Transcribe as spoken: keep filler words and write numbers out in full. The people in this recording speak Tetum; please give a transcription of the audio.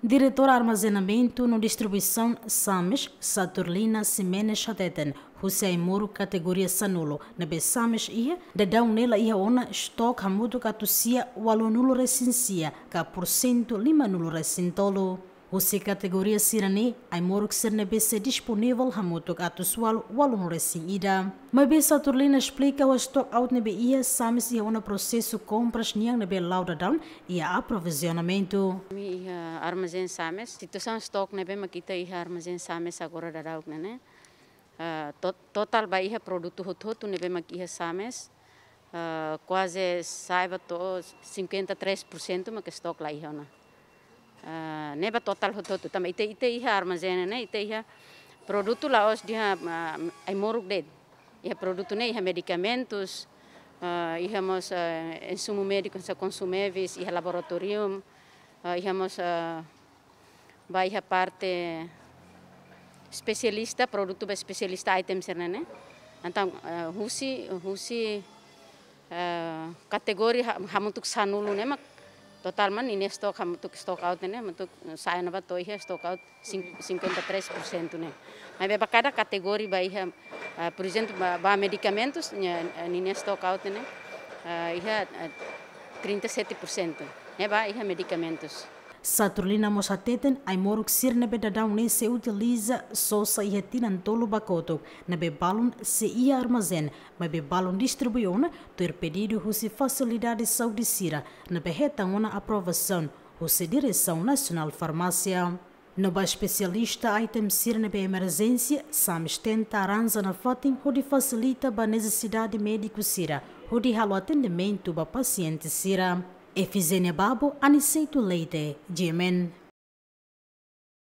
Diretora Armazenamentu no Distribuisaun SAMES, Saturlina Ximenes hateten, husi ai-moruk kategoria sanulu ne'ebé SAMES iha, daudaun ne'e la iha ona estok hamutuk atus sia ualunulu resin sia ka porsentu limanulu resin tolu. Husi kategoria sira-ne'e, ai-moruk sira ne'ebé sei disponivel hamutuk atus ualu ualunulu resin ida. Maibé Saturlina esplika, ho stock out ne'ebé iha, SAMES iha ona prosesu kompras nian ne'ebé la'o daudaun iha aprovizionamentu. Ami iha armazén SAMES, situasaun stock ne'ebé mak ita iha armazén SAMES agora daudauk ne'e ne'e. Ah, to-, totál ba iha produtu hotu-hotu ne'ebé mak iha SAMES, ah, kuaze sa'e ba to'o cinquenta e três por cento mak stock la iha ona. Ah, ne'e ba totál hotu-hotu. Tanba ita, ita iha armazén ne'e, ita iha produtu la'ós de'it, ah, ai-moruk de'it. Iha produtu ne'e, iha medikamentus, ah, iha mós, ah, insumu médiku, hanesan konsumevis, iha laboratóriu, ah, iha mós, ah, ba iha parte espesialista, produtu ba espesialista item sira-ne'e ne'e. Entaun, eh, husi, husi, eh, kategoria ha-, hamutuk sanulu ne'e mak totál mak ninia stock hamutuk stock out ne'e, hamutuk sa'e ona ba to'o iha stock out cin-, cinquenta e três por cento ne'e. Maibé ba kada kategoria ba iha, eh, por ezemplu, ba, ba medikamentus, nia, eh, ninia stock out ne'e, eh, iha, eh, trinta e sete por cento. Ne'e ba iha medikamentus. Saturlina mós hateten, ai-moruk sira ne'ebé daudaun ne'e sei utiliza sosa iha tinan tolu ba kotuk, ne'ebé balun sei iha armazén, maibé balun distribui ona tuir pedidu husi fasilidade saúde sira, ne'ebé hetan ona aprovasaun husi Diresaun Nasionál Farmásia. No ba espesialista item sira ne'ebé emerjénsia, SAMES tenta arranja nafatin hodi fasilita ba nesesidade médiku sira, hodi halo atendimentu ba pasiente sira. Efizénia Babo, Aniceto Leite, G M N.